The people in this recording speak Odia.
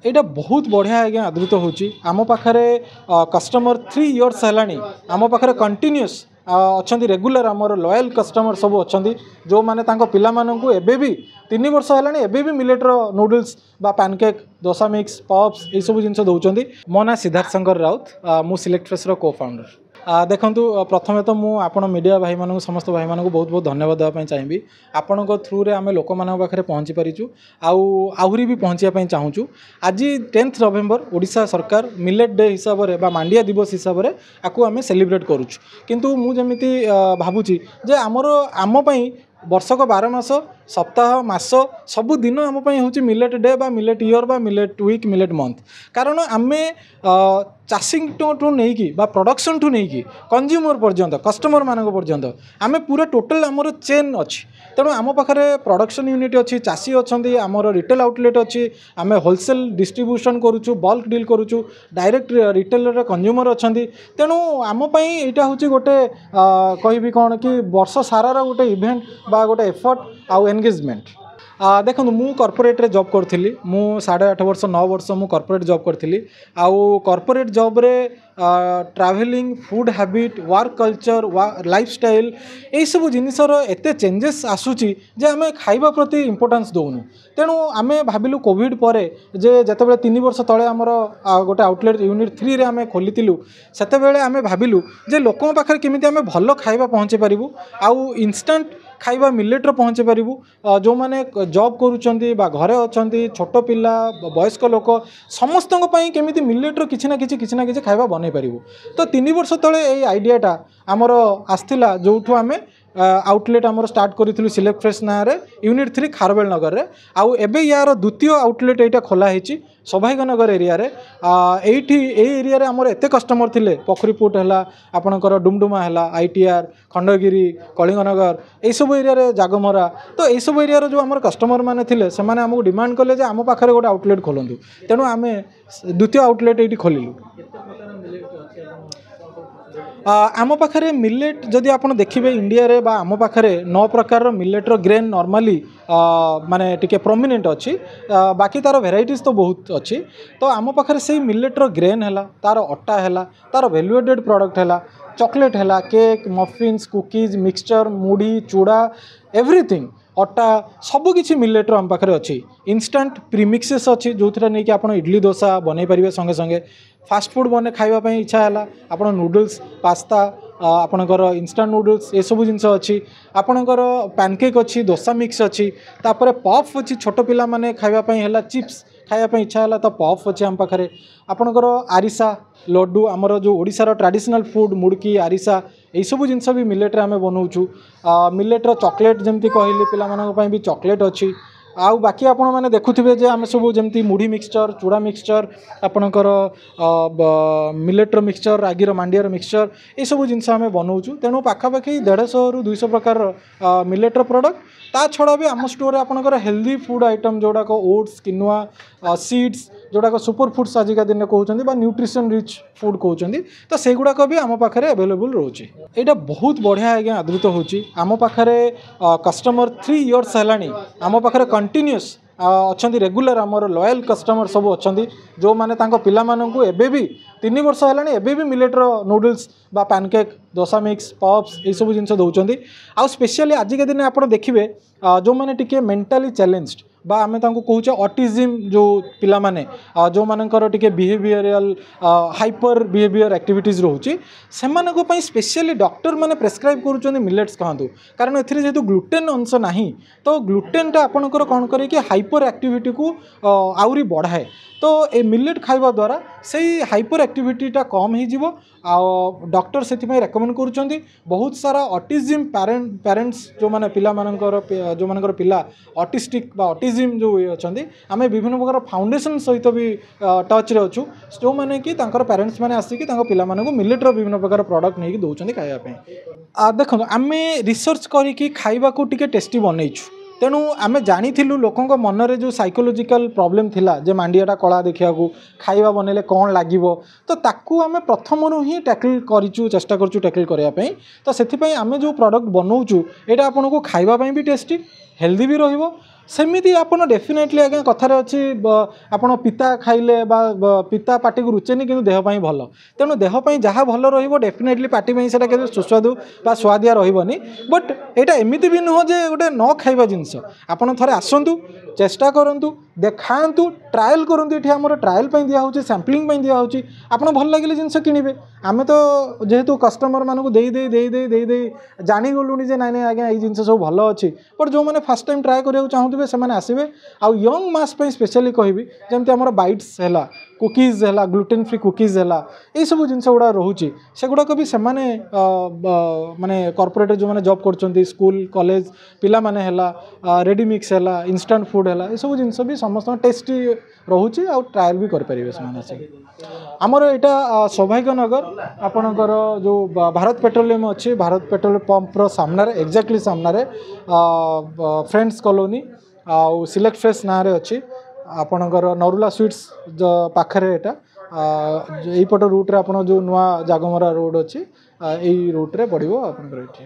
ଏଇଟା ବହୁତ ବଢ଼ିଆ ଆଜ୍ଞା ଆଦୃତ ହେଉଛି। ଆମ ପାଖରେ କଷ୍ଟମର 3 ଇୟର୍ସ ହେଲାଣି, ଆମ ପାଖରେ କଣ୍ଟିନ୍ୟୁଅସ୍ ଅଛନ୍ତି। ରେଗୁଲାର ଆମର ଲୟାଲ୍ କଷ୍ଟମର ସବୁ ଅଛନ୍ତି, ଯେଉଁମାନେ ତାଙ୍କ ପିଲାମାନଙ୍କୁ ଏବେ ବି 3 ବର୍ଷ ହେଲାଣି, ଏବେ ବି ମିଲେଟ୍ର ନୁଡଲ୍ସ ବା ପ୍ୟାନକେକ୍, ଦୋସା ମିକ୍ସ, ପପ୍ସ ଏଇସବୁ ଜିନିଷ ଦେଉଛନ୍ତି। ମୋ ନାଁ ସିଦ୍ଧାର୍ଥ ଶଙ୍କର ରାଉତ, ମୁଁ ସିଲେକ୍ଟ ଫ୍ରେସ୍ର କୋ ଫାଉଣ୍ଡର। ଦେଖନ୍ତୁ, ପ୍ରଥମେ ତ ମୁଁ ଆପଣ ମିଡ଼ିଆ ଭାଇମାନଙ୍କୁ, ସମସ୍ତ ଭାଇମାନଙ୍କୁ ବହୁତ ବହୁତ ଧନ୍ୟବାଦ ଦେବା ପାଇଁ ଚାହିଁବି। ଆପଣଙ୍କ ଥ୍ରୁରେ ଆମେ ଲୋକମାନଙ୍କ ପାଖରେ ପହଞ୍ଚି ପାରିଛୁ ଆଉ ଆହୁରି ବି ପହଞ୍ଚିବା ପାଇଁ ଚାହୁଁଛୁ। ଆଜି 10th November Odisha ସରକାର ମିଲେଟ୍ ଡେ ହିସାବରେ ବା ମାଣ୍ଡିଆ ଦିବସ ହିସାବରେ ଆକୁ ଆମେ ସେଲିବ୍ରେଟ୍ କରୁଛୁ। କିନ୍ତୁ ମୁଁ ଯେମିତି ଭାବୁଛି ଯେ ଆମର ଆମ ପାଇଁ ବର୍ଷକ 12 ମାସ, ସପ୍ତାହ, ମାସ, ସବୁ ଦିନ ଆମ ପାଇଁ ହେଉଛି ମିଲେଟ୍ ଡେ ବା ମିଲେଟ୍ ଇୟର୍ ବା ମିଲେଟ୍ ୱିକ୍, ମିଲେଟ୍ ମନ୍ଥ। କାରଣ ଆମେ ଚାଷୀଙ୍କଠୁ ନେଇକି ବା ପ୍ରଡକ୍ସନ୍ଠୁ ନେଇକି କନଜ୍ୟୁମର ପର୍ଯ୍ୟନ୍ତ, କଷ୍ଟମରମାନଙ୍କ ପର୍ଯ୍ୟନ୍ତ ଆମେ ପୁରା ଟୋଟାଲ୍ ଆମର ଚେନ୍ ଅଛି। ତେଣୁ ଆମ ପାଖରେ ପ୍ରଡକ୍ସନ୍ ୟୁନିଟ୍ ଅଛି, ଚାଷୀ ଅଛନ୍ତି, ଆମର ରିଟେଲ୍ ଆଉଟଲେଟ୍ ଅଛି, ଆମେ ହୋଲସେଲ୍ ଡିଷ୍ଟ୍ରିବ୍ୟୁସନ୍ କରୁଛୁ, ବଲ୍କ ଡିଲ୍ କରୁଛୁ, ଡାଇରେକ୍ଟ ରିଟେଲର କନଜ୍ୟୁମର ଅଛନ୍ତି। ତେଣୁ ଆମ ପାଇଁ ଏଇଟା ହେଉଛି ଗୋଟେ କହିବି କ'ଣ କି ବର୍ଷ ସାରାର ଗୋଟେ ଇଭେଣ୍ଟ ବା ଗୋଟେ ଏଫର୍ଟ ଆଉ ଏନଗେଜମେଣ୍ଟ। ଦେଖନ୍ତୁ, ମୁଁ କର୍ପୋରେଟ୍ରେ ଜବ୍ କରୁଥିଲି। ମୁଁ 8.5 ବର୍ଷ, 9 ବର୍ଷ ମୁଁ କର୍ପୋରେଟ୍ ଜବ୍ କରିଥିଲି। ଆଉ corporate ଜବ୍ରେ travelling, food habit, work culture, lifestyle ଏଇସବୁ ଜିନିଷର ଏତେ ଚେଞ୍ଜେସ୍ ଆସୁଛି ଯେ ଆମେ ଖାଇବା ପ୍ରତି ଇମ୍ପୋର୍ଟାନ୍ସ ଦେଉନୁ। ତେଣୁ ଆମେ ଭାବିଲୁ କୋଭିଡ଼ ପରେ ଯେ ଯେତେବେଳେ 3 ବର୍ଷ ତଳେ ଆମର ଗୋଟେ ଆଉଟଲେଟ୍ ୟୁନିଟ୍ 3ରେ ଆମେ ଖୋଲିଥିଲୁ, ସେତେବେଳେ ଆମେ ଭାବିଲୁ ଯେ ଲୋକଙ୍କ ପାଖରେ କେମିତି ଆମେ ଭଲ ଖାଇବା ପହଞ୍ଚେଇ ପାରିବୁ ଆଉ ଇନଷ୍ଟାଣ୍ଟ ଖାଇବା ମିଲେଟ୍ର ପହଞ୍ଚେଇ ପାରିବୁ। ଯେଉଁମାନେ ଜବ୍ କରୁଛନ୍ତି ବା ଘରେ ଅଛନ୍ତି, ଛୋଟ ପିଲା, ବୟସ୍କ ଲୋକ, ସମସ୍ତଙ୍କ ପାଇଁ କେମିତି ମିଲେଟ୍ର କିଛି ନା କିଛି, କିଛି ନା କିଛି ଖାଇବା ବନେଇ ପାରିବୁ। ତ 3 ବର୍ଷ ତଳେ ଏଇ ଆଇଡ଼ିଆଟା ଆମର ଆସିଥିଲା, ଯେଉଁଠୁ ଆମେ ଆଉଟଲେଟ୍ ଆମର ଷ୍ଟାର୍ଟ କରିଥିଲୁ ସିଲେକ୍ଟ ଫ୍ରେଶ୍ ନାଁରେ ୟୁନିଟ୍ 3 ଖାରବେଳ ନଗରରେ। ଆଉ ଏବେ ୟାର ଦ୍ୱିତୀୟ ଆଉଟଲେଟ୍ ଏଇଟା ଖୋଲା ହେଇଛି ସୌଭାଗ୍ୟନଗର ଏରିଆରେ। ଏଇଠି ଏଇ ଏରିଆରେ ଆମର ଏତେ କଷ୍ଟମର ଥିଲେ, ପୋଖରୀପୁଟ ହେଲା, ଆପଣଙ୍କର ଡୁମଡୁମା ହେଲା, ଆଇଟିଆର୍, ଖଣ୍ଡଗିରି, କଳିଙ୍ଗନଗର, ଏଇସବୁ ଏରିଆରେ, ଜାଗମରା, ତ ଏଇସବୁ ଏରିଆର ଯେଉଁ ଆମର କଷ୍ଟମର ମାନେ ଥିଲେ, ସେମାନେ ଆମକୁ ଡିମାଣ୍ଡ କଲେ ଯେ ଆମ ପାଖରେ ଗୋଟେ ଆଉଟଲେଟ୍ ଖୋଲନ୍ତୁ। ତେଣୁ ଆମେ ଦ୍ୱିତୀୟ ଆଉଟଲେଟ୍ ଏଇଠି ଖୋଲିଲୁ। ଆମ ପାଖରେ ମିଲେଟ୍ ଯଦି ଆପଣ ଦେଖିବେ, ଇଣ୍ଡିଆରେ ବା ଆମ ପାଖରେ ନଅ ପ୍ରକାରର ମିଲେଟ୍ର ଗ୍ରେନ୍ ନର୍ମାଲି ମାନେ ଟିକେ ପ୍ରମିନେଣ୍ଟ ଅଛି। ବାକି ତା'ର ଭେରାଇଟିଜ୍ ତ ବହୁତ ଅଛି। ତ ଆମ ପାଖରେ ସେଇ ମିଲେଟ୍ର ଗ୍ରେନ୍ ହେଲା, ତା'ର ଅଟା ହେଲା, ତା'ର ଭ୍ୟାଲ୍ୟୁ ଆଡେଡ଼୍ ପ୍ରଡ଼କ୍ଟ ହେଲା, ଚକୋଲେଟ୍ ହେଲା, କେକ୍, ମଫିନ୍ସ, କୁକିଜ୍, ମିକ୍ସଚର୍, ମୁଢ଼ି, ଚୁଡ଼ା, ଏଭ୍ରିଥିଙ୍ଗ, ଅଟା, ସବୁକିଛି ମିଲେଟ୍ର ଆମ ପାଖରେ ଅଛି। ଇନଷ୍ଟାଣ୍ଟ ପ୍ରିମିକ୍ସେସ୍ ଅଛି, ଯେଉଁଥିରେ ନେଇକି ଆପଣ ଇଡ଼ଲି, ଦୋସା ବନେଇ ପାରିବେ ସଙ୍ଗେ ସଙ୍ଗେ। ଫାଷ୍ଟଫୁଡ଼୍ ବନେଇ ଖାଇବା ପାଇଁ ଇଚ୍ଛା ହେଲା, ଆପଣ ନୁଡ଼ଲ୍ସ, ପାସ୍ତା, ଆପଣଙ୍କର ଇନଷ୍ଟାଣ୍ଟ ନୁଡ଼ଲ୍ସ, ଏସବୁ ଜିନିଷ ଅଛି। ଆପଣଙ୍କର ପ୍ୟାନକେକ୍ ଅଛି, ଦୋସା ମିକ୍ସ ଅଛି, ତାପରେ ପଫ୍ ଅଛି। ଛୋଟ ପିଲାମାନେ ଖାଇବା ପାଇଁ ହେଲା, ଚିପ୍ସ ଖାଇବା ପାଇଁ ଇଚ୍ଛା ହେଲା, ତ ପଫ୍ ଅଛି ଆମ ପାଖରେ। ଆପଣଙ୍କର ଆରିସା, ଲଡ଼ୁ, ଆମର ଯେଉଁ ଓଡ଼ିଶାର ଟ୍ରାଡ଼ିସନାଲ୍ ଫୁଡ଼୍ ମୁଡ଼କି, ଆରିସା, ଏଇସବୁ ଜିନିଷ ବି ମିଲେଟ୍ରେ ଆମେ ବନାଉଛୁ। ମିଲେଟ୍ର ଚକୋଲେଟ୍, ଯେମିତି କହିଲି, ପିଲାମାନଙ୍କ ପାଇଁ ବି ଚକୋଲେଟ୍ ଅଛି। ଆଉ ବାକି ଆପଣମାନେ ଦେଖୁଥିବେ ଯେ ଆମେ ସବୁ ଯେମିତି ମୁଢ଼ି ମିକ୍ସଚର୍, ଚୁଡ଼ା ମିକ୍ସଚର୍, ଆପଣଙ୍କର ମିଲେଟ୍ର ମିକ୍ସଚର୍, ରାଗିର, ମାଣ୍ଡିଆର ମିକ୍ସଚର୍, ଏସବୁ ଜିନିଷ ଆମେ ବନାଉଛୁ। ତେଣୁ ପାଖାପାଖି 150ରୁ 200 ପ୍ରକାରର ମିଲେଟ୍ର ପ୍ରଡ଼କ୍ଟ। ତା ଛଡ଼ା ବି ଆମ ଷ୍ଟୋରରେ ଆପଣଙ୍କର ହେଲ୍ଦି ଫୁଡ଼୍ ଆଇଟମ୍ ଯେଉଁଗୁଡ଼ାକ ଓଟ୍ସ, କିନୁଆ, ସିଡ୍ସ, ଯେଉଁଗୁଡ଼ାକ ସୁପର ଫୁଡ଼୍ସ ଆଜିକା ଦିନରେ କହୁଛନ୍ତି ବା ନ୍ୟୁଟ୍ରିସନ୍ ରିଚ୍ ଫୁଡ଼୍ କହୁଛନ୍ତି, ତ ସେଇଗୁଡ଼ାକ ବି ଆମ ପାଖରେ ଆଭେଲେବୁଲ୍ ରହୁଛି। ଏଇଟା ବହୁତ ବଢ଼ିଆ ଆଜ୍ଞା ଆଦୃତ ହେଉଛି। ଆମ ପାଖରେ କଷ୍ଟମର 3 ଇୟର୍ସ ହେଲାଣି, ଆମ ପାଖରେ କଣ୍ଟିନ୍ୟୁଅସ୍ ଅଛନ୍ତି। ରେଗୁଲାର ଆମର ଲୟାଲ୍ କଷ୍ଟମର ସବୁ ଅଛନ୍ତି, ଯେଉଁମାନେ ତାଙ୍କ ପିଲାମାନଙ୍କୁ ଏବେ ବି 3 ବର୍ଷ ହେଲାଣି, ଏବେ ବି ମିଲେଟ୍ର ନୁଡ଼ଲ୍ସ ବା ପ୍ୟାନକେକ୍, ଦୋସା ମିକ୍ସ, ପପ୍ସ, ଏଇସବୁ ଜିନିଷ ଦେଉଛନ୍ତି। ଆଉ ସ୍ପେଶିଆଲି ଆଜିକା ଦିନରେ ଆପଣ ଦେଖିବେ, ଯେଉଁମାନେ ଟିକେ ମେଣ୍ଟାଲି ଚ୍ୟାଲେଞ୍ଜড ବା ଆମେ ତାଙ୍କୁ କହୁଛେ ଅଟିଜିମ୍, ଯେଉଁ ପିଲାମାନେ, ଯେଉଁମାନଙ୍କର ଟିକେ ବିହେଭିଅରିଆଲ ହାଇପର ବିହେଭିଅର ଆକ୍ଟିଭିଟିଜ୍ ରହୁଛି, ସେମାନଙ୍କ ପାଇଁ ସ୍ପେଶିଆଲି ଡକ୍ଟରମାନେ ପ୍ରେସ୍କ୍ରାଇବ୍ କରୁଛନ୍ତି ମିଲେଟ୍ସ ଖାଆନ୍ତୁ। କାରଣ ଏଥିରେ ଯେହେତୁ ଗ୍ଲୁଟେନ୍ ଅଂଶ ନାହିଁ, ତ ଗ୍ଲୁଟେନ୍ଟା ଆପଣଙ୍କର କ'ଣ କରେ କି ହାଇପର ଆକ୍ଟିଭିଟିକୁ ଆହୁରି ବଢ଼ାଏ। ତ ଏ ମିଲେଟ୍ ଖାଇବା ଦ୍ୱାରା ସେଇ ହାଇପର ଆକ୍ଟିଭିଟିଟା କମ୍ ହେଇଯିବ ଆଉ ଡକ୍ଟର ସେଥିପାଇଁ ରେକମେଣ୍ଡ କରୁଛନ୍ତି। ବହୁତ ସାରା ଅଟିଜିମ୍ ପ୍ୟାରେଣ୍ଟସ୍, ଯେଉଁମାନେ ପିଲାମାନଙ୍କର, ଯେଉଁମାନଙ୍କର ପିଲା ଅଟିଷ୍ଟିକ୍ ବା ଅଟିଜିମ୍ ଯେଉଁ ଇଏ ଅଛନ୍ତି, ଆମେ ବିଭିନ୍ନ ପ୍ରକାର ଫାଉଣ୍ଡେସନ୍ ସହିତ ବି ଟଚ୍ରେ ଅଛୁ, ଯେଉଁମାନେ କି ତାଙ୍କର ପ୍ୟାରେଣ୍ଟସ୍ ମାନେ ଆସିକି ତାଙ୍କ ପିଲାମାନଙ୍କୁ ମିଲେଟ୍ର ବିଭିନ୍ନ ପ୍ରକାର ପ୍ରଡ଼କ୍ଟ ନେଇକି ଦେଉଛନ୍ତି ଖାଇବା ପାଇଁ। ଦେଖନ୍ତୁ, ଆମେ ରିସର୍ଚ୍ଚ କରିକି ଖାଇବାକୁ ଟିକେ ଟେଷ୍ଟି ବନେଇଛୁ। ତେଣୁ ଆମେ ଜାଣିଥିଲୁ ଲୋକଙ୍କ ମନରେ ଯେଉଁ ସାଇକୋଲୋଜିକାଲ ପ୍ରୋବ୍ଲେମ୍ ଥିଲା ଯେ ମାଣ୍ଡିଆଟା କଳା ଦେଖିବାକୁ, ଖାଇବା ବନେଇଲେ କ'ଣ ଲାଗିବ, ତ ତାକୁ ଆମେ ପ୍ରଥମରୁ ହିଁ ଟ୍ୟାକଲ୍ କରିଛୁ, ଚେଷ୍ଟା କରୁଛୁ ଟ୍ୟାକଲ୍ କରିବା ପାଇଁ। ତ ସେଥିପାଇଁ ଆମେ ଯେଉଁ ପ୍ରଡ଼କ୍ଟ ବନାଉଛୁ, ଏଇଟା ଆପଣଙ୍କୁ ଖାଇବା ପାଇଁ ବି ଟେଷ୍ଟି, ହେଲ୍ଦି ବି ରହିବ। ସେମିତି ଆପଣ ଡେଫିନେଟଲି ଆଜ୍ଞା, କଥାରେ ଅଛି, ଆପଣ ପିତା ଖାଇଲେ ବା ପିତା ପାଟିକୁ ରୁଚେନି କିନ୍ତୁ ଦେହ ପାଇଁ ଭଲ। ତେଣୁ ଦେହ ପାଇଁ ଯାହା ଭଲ ରହିବ, ଡେଫିନେଟଲି ପାଟି ପାଇଁ ସେଇଟା କେବେ ସୁସ୍ୱାଦୁ ବା ସୁଆଦିଆ ରହିବନି। ବଟ୍ ଏଇଟା ଏମିତି ବି ନୁହଁ ଯେ ଗୋଟେ ନ ଖାଇବା ଜିନିଷ। ଆପଣ ଥରେ ଆସନ୍ତୁ, ଚେଷ୍ଟା କରନ୍ତୁ, ଦେଖାନ୍ତୁ, ଟ୍ରାଏଲ୍ କରନ୍ତୁ। ଏଠି ଆମର ଟ୍ରାଏଲ୍ ପାଇଁ ଦିଆହେଉଛି, ସାମ୍ପଲିଂ ପାଇଁ ଦିଆହେଉଛି। ଆପଣ ଭଲ ଲାଗିଲେ ଜିନିଷ କିଣିବେ। ଆମେ ତ ଯେହେତୁ କଷ୍ଟମରମାନଙ୍କୁ ଦେଇ ଦେଇ ଦେଇ ଦେଇ ଦେଇ ଦେଇ ଜାଣିଗଲୁଣି ଯେ ନାଇଁ ନାଇଁ ଆଜ୍ଞା, ଏଇ ଜିନିଷ ସବୁ ଭଲ ଅଛି। ବଟ୍ ଯେଉଁମାନେ ଫାର୍ଷ୍ଟ ଟାଇମ୍ ଟ୍ରାଏ କରିବାକୁ ଚାହୁଁଥିବେ, ସେମାନେ ଆସିବେ। ଆଉ ୟଙ୍ଗ ମାସ୍ ପାଇଁ ସ୍ପେଶିଆଲି କହିବି, ଯେମିତି ଆମର ବାଇଟ୍ସ ହେଲା, କୁକିଜ୍ ହେଲା, ଗ୍ଲୁଟେନ୍ ଫ୍ରି କୁକିଜ୍ ହେଲା, ଏଇସବୁ ଜିନିଷ ଗୁଡ଼ା ରହୁଛି। ସେଗୁଡ଼ାକ ବି ସେମାନେ ମାନେ କର୍ପୋରେଟ୍ରେ ଯେଉଁମାନେ ଜବ୍ କରୁଛନ୍ତି, ସ୍କୁଲ କଲେଜ ପିଲାମାନେ ହେଲା, ରେଡ଼ି ମିକ୍ସ ହେଲା, ଇନଷ୍ଟାଣ୍ଟ ଫୁଡ଼୍ ହେଲା, ଏସବୁ ଜିନିଷ ବି ସମସ୍ତଙ୍କ ଟେଷ୍ଟି ରହୁଛି ଆଉ ଟ୍ରାଏଲ୍ ବି କରିପାରିବେ ସେମାନେ ଆସିକି। ଆମର ଏଇଟା ସୌଭାଗ୍ୟନଗର, ଆପଣଙ୍କର ଯେଉଁ ଭାରତ ପେଟ୍ରୋଲିୟମ୍ ଅଛି, ଭାରତ ପେଟ୍ରୋଲ ପମ୍ପର ସାମ୍ନାରେ, ଏକ୍ଜାକ୍ଟଲି ସାମ୍ନାରେ, ଫ୍ରେଣ୍ଡସ୍ କଲୋନୀ ଆଉ ସିଲେକ୍ଟ ଫ୍ରେଶ୍ ନାଁରେ ଅଛି। ଆପଣଙ୍କର ନରୁଲା ସୁଇଟ୍ସ ପାଖରେ ଏଇଟା। ଏଇପଟ ରୁଟ୍ରେ ଆପଣ ଯେଉଁ ନୂଆ ଜାଗମରା ରୋଡ଼ ଅଛି, ଏଇ ରୁଟ୍ରେ ପଡ଼ିବ ଆପଣଙ୍କର ଏଇଠି।